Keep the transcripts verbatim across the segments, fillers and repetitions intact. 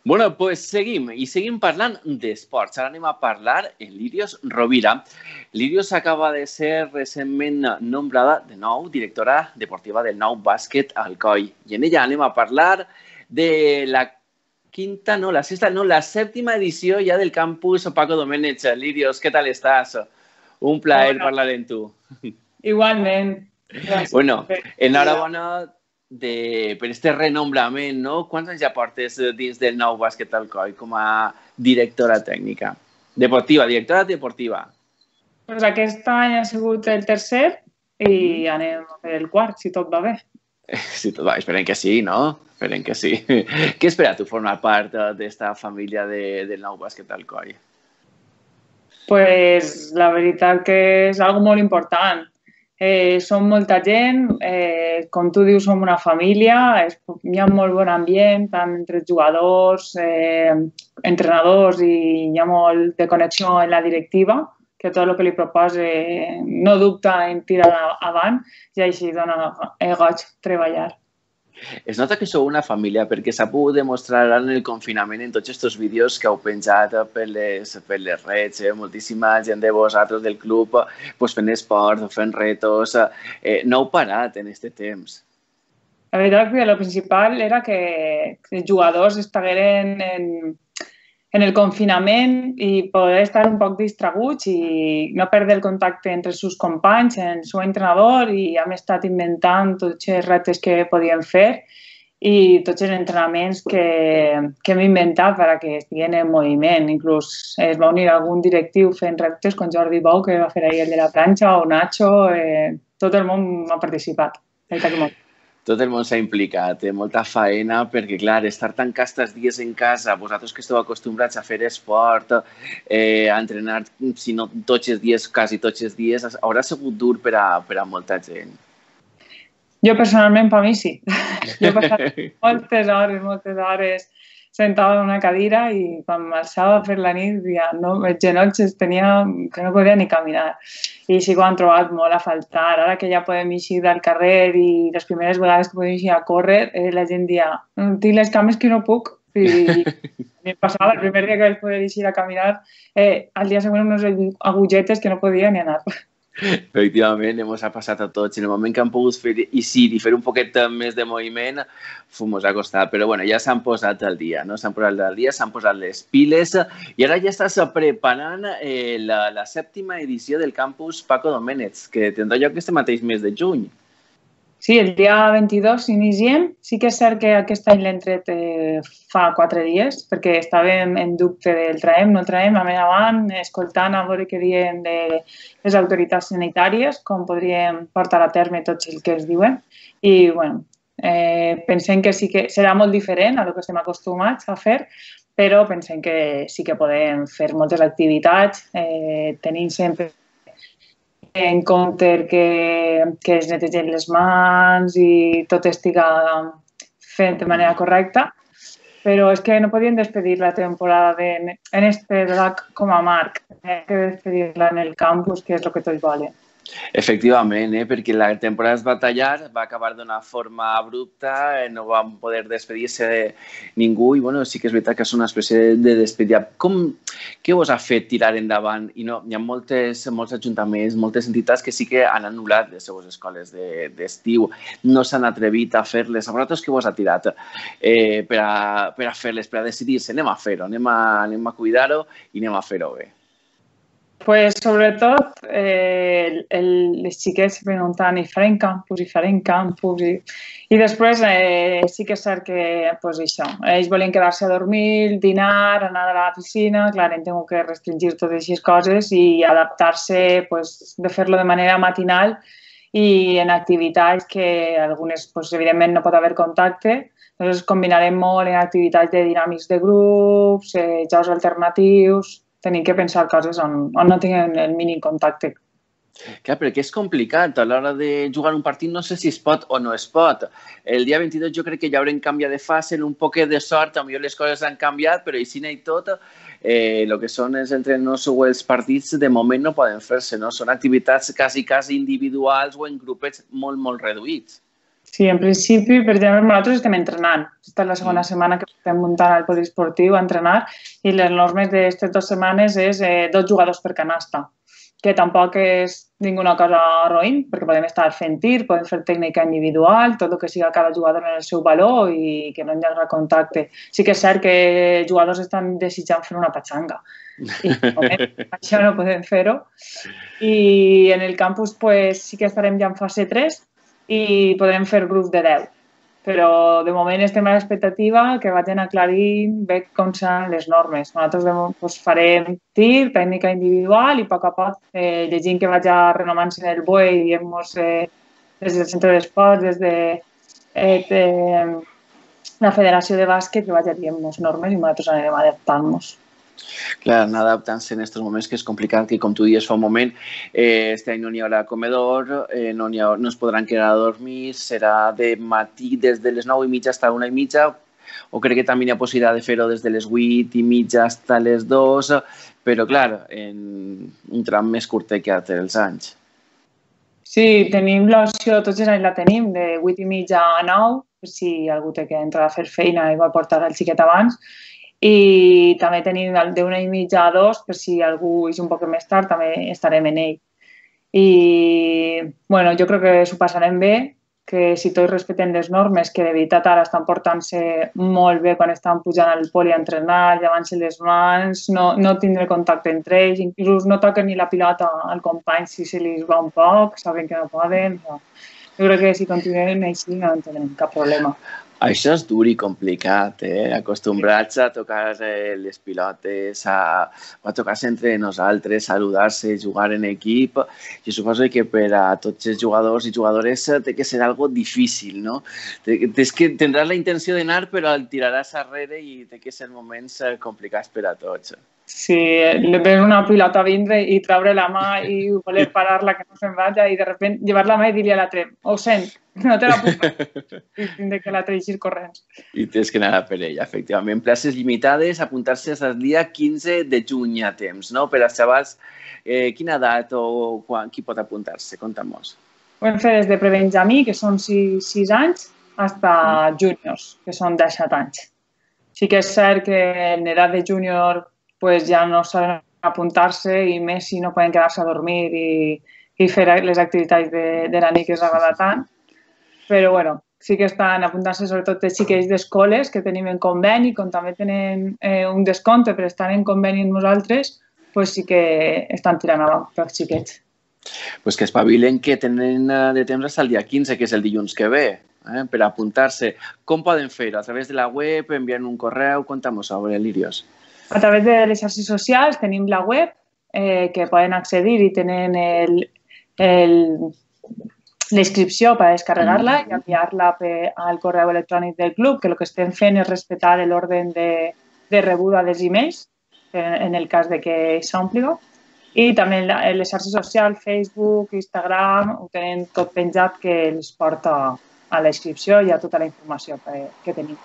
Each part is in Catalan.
Bueno, pues seguim, i seguim parlant d'esports. Ara anem a parlar en Lírios Rovira. Lírios acaba de ser recentment nombrada de nou directora deportiva del Nou Bàsquet Alcoi. I en ella anem a parlar de la quinta, no, la sexta, no, la sèptima edició ja del campus Paco Domènech. Lírios, què tal estàs? Un plaer Hola. parlar amb tu. Igualment. Gràcies. Bueno, enhorabona de, per este renombrament, no? Quants anys ja portes dins del Nou Bàsquet Alcoi com a directora tècnica? Deportiva, directora deportiva. Pues aquest any ha sigut el tercer i anem a fer el quart, si tot va bé. Si tot va, esperem que sí, no? Esperem que sí. Què espera tu formar part d'esta família de, del Nou Bàsquet Alcoi? Pues la veritat que és algo molt important. Eh, som molta gent, eh, com tu dius, som una família, es, hi ha molt bon ambient, tant entre jugadors, eh, entrenadors, i hi ha molt de connexió en la directiva, que tot el que li proposa no dubta en tirar avant, i així dona eh, goig treballar. Es nota que sou una família perquè s'ha pogut demostrar en el confinament en tots aquests vídeos que heu penjat per les, per les redes, eh? Moltíssima gent de vosaltres del club pues, fent esport, fent retos. Eh, no heu parat en aquest temps. La veritat que el principal era que els jugadors estagueren en, en el confinament i poder estar un poc distraguts i no perdre el contacte entre els seus companys, el seu entrenador, i hem estat inventant tots els reptes que podíem fer i tots els entrenaments que, que hem inventat perquè estiguin en moviment. Inclús es va unir algun directiu fent reptes com Jordi Bou, que va fer ahir el de la planxa, o Nacho, eh, tot el món ha participat. Tot el món s'ha implicat, eh? Molta faena, perquè, clar, estar tancats els dies en casa, vosaltres que esteu acostumbrats a fer esport, eh, a entrenar, si no tots els dies, quasi tots els dies, haurà sigut dur per a, per a molta gent. Jo, personalment, per mi sí. Jo he passat moltes hores, moltes hores sentada en una cadira i quan m'alçava a fer la nit, ja no, els genolls els tenia que no podia ni caminar. I sí que ho han trobat molt a faltar. Ara que ja podem eixir del carrer i les primeres vegades que podem eixir a córrer, eh, la gent dia, tinc les cames que no puc. I em passava el primer dia que vaig poder eixir a caminar, eh, al dia següent unes agujetes que no podia ni anar. Efectivament, ens ha passat a tots. En el moment que han pogut fer eixir i fer un poquet més de moviment, ens ha costat. Però bueno, ja s'han posat al dia, no? S'han posat al dia, s'han posat les piles i ara ja estàs preparant eh, la, la sèptima edició del campus Paco Domènech, que tindrà lloc este mateix mes de juny. Sí, el dia vint-i-dos s'iniciem. Sí que és cert que aquest any l'hem tret eh, fa quatre dies, perquè estàvem en dubte del traem, no el traem, a més avant, escoltant a veure què diuen de les autoritats sanitàries, com podríem portar a terme tots els que es diuen. I, bueno, eh, pensem que sí que serà molt diferent a el que estem acostumats a fer, però pensem que sí que podem fer moltes activitats, eh, tenint sempre en compte que, que es netegen les mans i tot estiga fet de manera correcta, però és que no podíem despedir la temporada de, en este drac com a marc, hem que despedir-la en el campus, que és el que tots volen. Efectivament, eh? perquè la temporada es va tallar, va acabar d'una forma abrupta, eh? no vam poder despedir-se de ningú i bueno, sí que és veritat que és una espècie de despedida. Com, què us ha fet tirar endavant? I no, hi ha moltes, molts ajuntaments, moltes entitats que sí que han anul·lat les seves escoles d'estiu, de, no s'han atrevit a fer-les. A vosaltres què us ha tirat eh, per a, per a fer-les, per a decidir-se? Anem a fer-ho, anem a, anem a cuidar-ho i anem a fer-ho bé. Pues, sobretot, eh, el, les xiquets se preguntaven i farem campus, i farem campus, i, i després eh, sí que és cert que, pues això, ells volien quedar-se a dormir, dinar, anar a la piscina, clar, hem tingut que restringir totes aquestes coses i adaptar-se, pues, de fer-lo de manera matinal i en activitats que algunes, pues, evidentment, no pot haver contacte, llavors combinarem molt en activitats de dinàmics de grups, eh, jocs alternatius. Tenim que pensar coses on, on no tinguin el mínim contacte. Clar, perquè és complicat. A l'hora de jugar un partit no sé si es pot o no es pot. El dia vint-i-dos jo crec que ja haurem canviat de fase, en un poquet de sort, potser les coses han canviat, però així i tot, eh, el que són els entrenos o els partits de moment no poden fer-se, no? Són activitats quasi, quasi individuals o en grupets molt, molt reduïts. Sí, en principi, per exemple, nosaltres estem entrenant. Aquesta és la segona setmana que estem muntant al poliesportiu a entrenar i les normes d'aquestes dues setmanes és eh, dos jugadors per canasta, que tampoc és ninguna cosa roïn, perquè podem estar fent tir, podem fer tècnica individual, tot el que siga cada jugador en el seu valor i que no hi hagi contacte. Sí que és cert que jugadors estan desitjant fer una patxanga i això no podem fer-ho. I en el campus pues, sí que estarem ja en fase tres i podrem fer grups de deu. Però de moment estem a l'expectativa que vagin aclarint bé com seran les normes. Nosaltres doncs, farem tir, tècnica individual i a poc a poc eh, llegint que vagi renovant-se en el B O E i diem-nos eh, des del centre d'esports, des de, eh, de la Federació de Bàsquet, que vagi dient-nos normes i nosaltres anirem adaptant-nos. Clar, anar adaptant-se en aquests moments que és complicat, que com tu dius fa un moment, eh, este any no n'hi haurà comedor, eh, no, ha, no es podran quedar a dormir, serà de matí des de les nou i mitja fins a una i mitja, o crec que també hi ha possibilitat de fer-ho des de les vuit i mitja fins a les dues, però clar, en un tram més curtet que altres els anys. Sí, tenim l'opció, tots els anys la tenim, de vuit i mitja a nou, per si algú té que entrar a fer feina i vol portar el xiquet abans, i també tenim d'una i mitja a dos, per si algú és un poc més tard, també estarem en ell. I, bueno, jo crec que s'ho passarem bé, que si tots respecten les normes, que de veritat ara estan portant-se molt bé quan estan pujant al poli a entrenar, llavant-se les mans, no, no tindre contacte entre ells, inclús no toquen ni la pilota al company si se li va un poc, saben que no poden. No. Jo crec que si continuem així no en tindrem cap problema. Això és dur i complicat, eh? Acostumbrats a tocar eh, les pilotes, a, a tocar-se entre nosaltres, saludar-se, jugar en equip. Jo suposo que per a tots els jugadors i jugadores té que ser algo difícil, no? Tens que tindràs la intenció d'anar, però el tiraràs arrere i té que ser moments complicats per a tots. Sí, le ves una pilota vindre i treure la mà i voler parar-la que no se'n vagi i de repente llevar la mà i dir-li a l'altre, ho sent, no te la puc i tindre que l'altre eixir corrents. I tens que anar per ella, efectivament. Places limitades, apuntar-se al dia quinze de juny a temps, no? Per als xavals, eh, quina edat o quan, qui pot apuntar-se? Conta'm-nos. Ho hem fet des de prebenjamí, que són sis anys, fins a júniors, que són disset anys. Sí que és cert que en edat de júnior pues ja no saben apuntar-se i més si no poden quedar-se a dormir i, i fer les activitats de, de la nit que els agrada tant. Però bueno, sí que estan apuntant-se sobretot els xiquets d'escoles que tenim en conveni, com també tenen eh, un descompte per estar en conveni amb nosaltres, pues sí que estan tirant avant pels xiquets. Pues que espavilen que tenen de temps fins al dia quinze, que és el dilluns que ve, eh, per apuntar-se. Com poden fer-ho? A través de la web, enviant un correu? Conta'm-ho sobre l'Irios. A través de les xarxes socials tenim la web eh, que poden accedir i tenen la inscripció per descarregar-la i enviar-la al correu electrònic del club, que el que estem fent és respectar l'ordre de, de rebuda dels e-mails, en el cas de que s'ompliga. I també en les xarxes socials, Facebook, Instagram, ho tenen tot penjat que els porta a la inscripció i a tota la informació que, que tenim.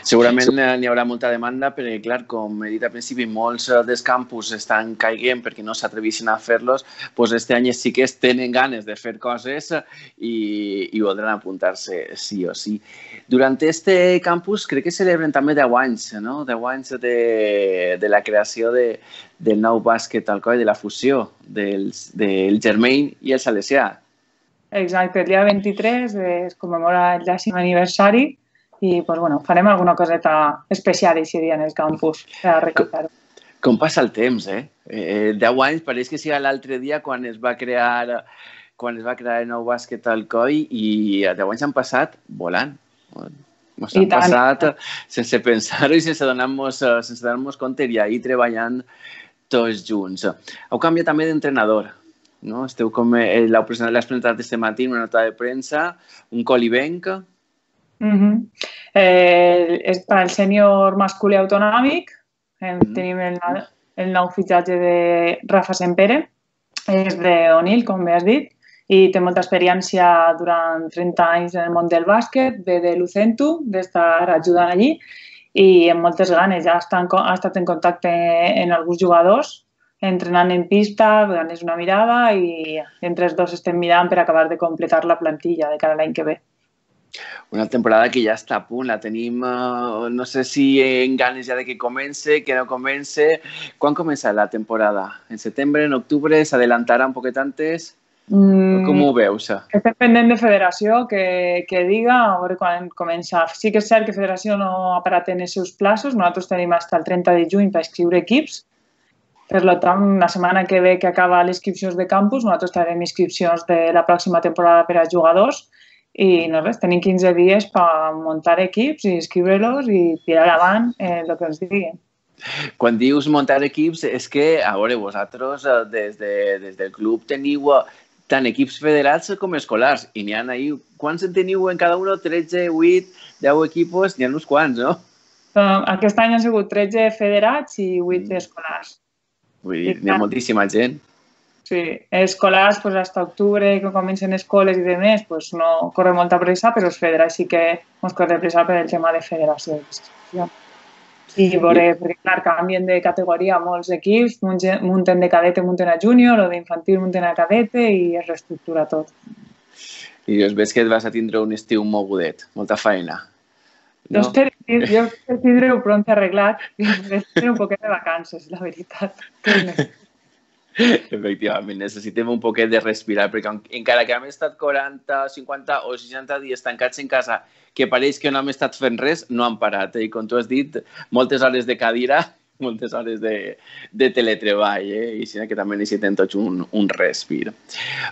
Segurament n'hi haurà molta demanda perquè, clar, com he dit al principi, molts dels campus estan caiguent perquè no s'atrevissin a fer-los, doncs este any sí que tenen ganes de fer coses i, i voldran apuntar-se sí o sí. Durant este campus crec que celebren també deu anys, no? deu anys de, de la creació de, del nou bàsquet Alcoi, de la fusió del, del Germain i el Salesià. Exacte, el dia vint-i-tres es commemora el dècim aniversari i pues, bueno, farem alguna coseta especial aquest dia en el campus per recordar-ho. Com passa el temps, eh? eh? Deu anys, pareix que sigui l'altre dia quan es va crear quan es va crear el nou bàsquet Alcoi i deu anys han passat volant. Ens han passat sense pensar-ho i sense donar-nos sense donar-nos compte i ahir treballant tots junts. Heu canviat també d'entrenador, no? Esteu com l'heu presentat aquest matí en una nota de premsa, un colibenc. Uh -huh. eh, és per al sènior masculí autonòmic. Eh, mm. Tenim el, el nou fitxatge de Rafa Sempere, és d'Onil, com bé has dit, i té molta experiència durant trenta anys en el món del bàsquet, ve de Lucentu, d'estar ajudant allí, i amb moltes ganes. Ja està en, ha estat en contacte amb alguns jugadors, entrenant en pista, donant una mirada, i entre els dos estem mirant per acabar de completar la plantilla de cara a l'any que ve. Una temporada que ja està a punt, la tenim, uh, no sé si en ganes ja de que comence, que no comence. Quan comença la temporada? En setembre, en octubre? S'adelantarà un poquet antes? Mm, Com ho veus? És dependent de federació que, que diga a veure quan comença. Sí que és cert que federació no ha parat en els seus plaços. Nosaltres tenim fins al trenta de juny per escriure equips. Per tant, la setmana que ve que acaba les inscripcions de campus, nosaltres tenim inscripcions de la pròxima temporada per a jugadors. I no res, tenim quinze dies per muntar equips i inscriure-los i tirar avant eh, el que ens diguin. Quan dius muntar equips, és que, a veure, vosaltres des, de, des del club teniu tant equips federats com escolars. I n'hi ha ahir, quants en teniu en cada un? tretze, vuit, deu equipos? N'hi ha uns quants, no? Aquest any han sigut tretze federats i vuit mm. escolars. Vull dir, n'hi ha moltíssima gent. Sí, escolars, pues, hasta octubre, que comencen escoles i demés, pues, no corre molta pressa, però els federats sí que ens corre pressa per el tema de federació. I veure, perquè clar, canvien de categoria molts equips, munten de cadete, munten a júnior, o d'infantil munten a cadete i es reestructura tot. I es ves que et vas a tindre un estiu mogudet, molta feina. No? Jo espero, jo espero tindre-ho pront arreglat i espero un poquet de vacances, la veritat. Efectivament, necessitem un poquet de respirar, perquè encara que hem estat quaranta, cinquanta o seixanta dies tancats en casa, que pareix que no hem estat fent res, no han parat. I com tu has dit, moltes hores de cadira, moltes hores de, de teletreball, eh? I així que també necessitem tots un, un respir.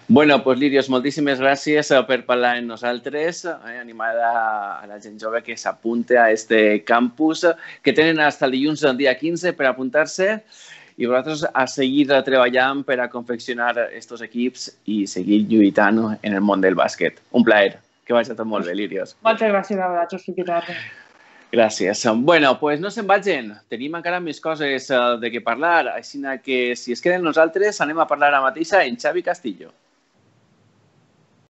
Bueno, doncs, Lírios, moltíssimes gràcies per parlar amb nosaltres, eh? Animar a, a la gent jove que s'apunte a este campus, que tenen fins el dilluns del dia quinze per apuntar-se, i vosaltres a seguir treballant per a confeccionar aquests equips i seguir lluitant en el món del bàsquet. Un plaer. Que vagi tot molt bé, Lírios. Moltes gràcies a vosaltres, Fiquitarra. Gràcies. Bueno, doncs no se'n vagin. Tenim encara més coses de què parlar, així que si es queden nosaltres anem a parlar ara mateixa en Xavi Castillo.